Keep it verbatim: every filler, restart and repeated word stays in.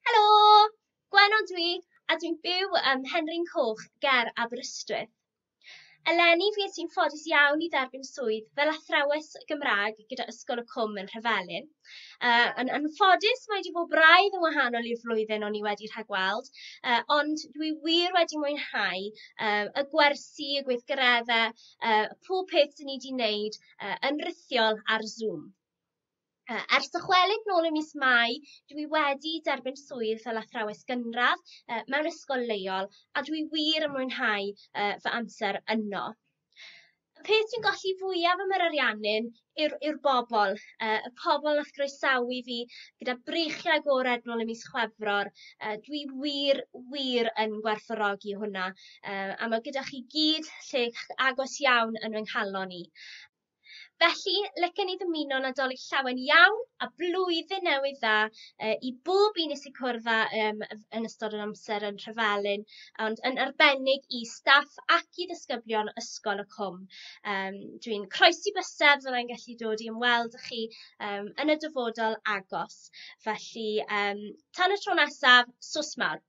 Helo! Gwenno dwi, a dwi'n byw ym Mhenrhyn Coch ger Aberystwyth. Eleni fues i'n ffodus iawn i dderbyn swydd fel athrawes Gymraeg gyda Ysgol y Cwm yn Nhrevelin. Yy, yn anffodus mae 'di bod braidd yn wahanol i'r flwyddyn o'n i wedi rhagweld, yy, ond dwi wir wedi mwynhau yy, y gwersi, y gweithgareddau, yy, pob peth 'dyn ni 'di wneud yy, yn rithiol ar Zoom. Yy, ers dychwelyd nôl ym mis Mai, dwi wedi derbyn swydd fel athrawes gynradd yy, mewn ysgol leol, a dwi wir yn mwynhau yy, fy amser yno. Y peth dwi'n golli fwyaf am yr Ariannin yw'r yw'r bobl, yy, y pobl wnaeth groesawu fi gyda breichiau agored nôl ym mis Chwefror. Yy, dwi wir, wir yn gwerthfawrogi hwnna, yy, a ma' gyda chi gyd lle agos iawn yn fy nghalon i. Felly, licen i ddymuno Nadolig llawen iawn a blwyddyn newydd dda yy, i bob un nes i cwrdd â yym, yn ystod yr amser yn Nhrevelin, ond yn arbennig i staff ac i ddisgyblion Ysgol y Cwm. Yym, dwi'n croesi bysedd fyddai'n gallu dod i ymweld â chi yym, yn y dyfodol agos. Felly, yym, tan y tro nesaf, sws mawr.